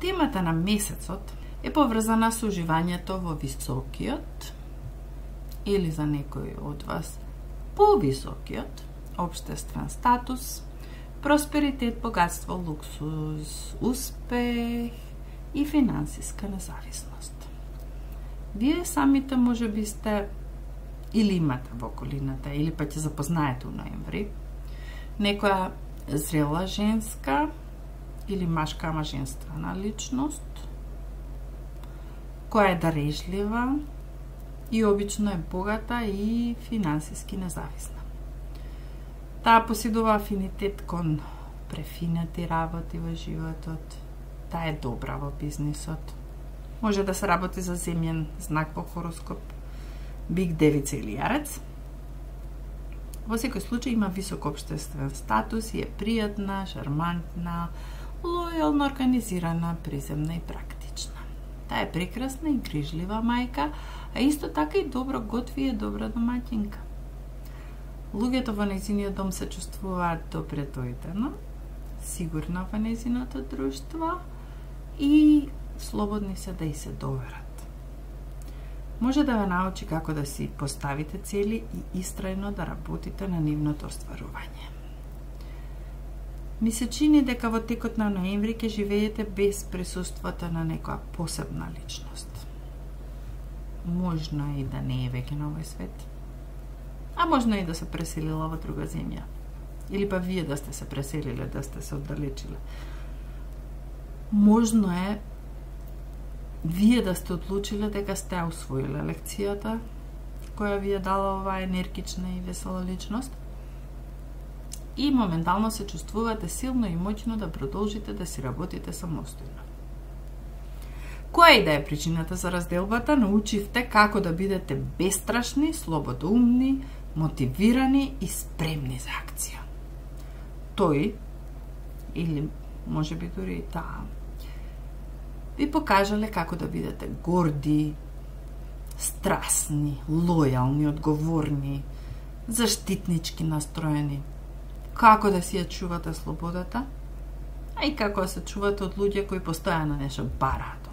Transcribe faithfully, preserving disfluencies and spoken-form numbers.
Темата на месецот е поврзана со уживањето во високиот или за некој од вас повисокиот општествен статус, просперитет, богатство, луксуз, успех и финансиска независност. Вие самите може би сте или имате во околината, или па ќе запознаете у ноември некоја зрела женска или машка, ама женствена личност, која е дарежлива и обично е богата и финансиски независна. Таа поседува афинитет кон префинети работи во животот. Таа е добра во бизнисот. Може да се работи за земјен знак во хороскоп, бик, девица или јарец. Во секој случај има висок општествен статус и е пријатна, шармантна, лојална, организирана, приземна и практична. Таа е прекрасна и грижлива мајка, а исто така и добро готви и е добра домаќинка. Луѓето во нејзиниот дом се чувствуваат добредојдено, сигурно во нејзиното друштво и слободни се да и се доверат. Може да ве научи како да си поставите цели и истрајно да работите на нивното остварување. Ми се чини дека во текот на ноември ќе живеете без присуството на некоја посебна личност. Можно и да не е веќе на овој свет, а можно и да се преселила во друга земја. Или па вие да сте се преселиле, да сте се оддалечиле. Можно е вие да сте одлучиле дека сте усвоиле лекцијата која ви е дала оваа енергична и весела личност и моментално се чувствувате силно и моќно да продолжите да си работите самостојно. Која и да е причината за разделбата, научивте како да бидете бестрашни, слободоумни, мотивирани и спремни за акција. Тој, или може би дури и таа, ви покажале како да бидете горди, страсни, лојални, одговорни, заштитнички настроени, како да си ја чувате слободата, а и како да се чувате од луѓе кои постојано нешто бараат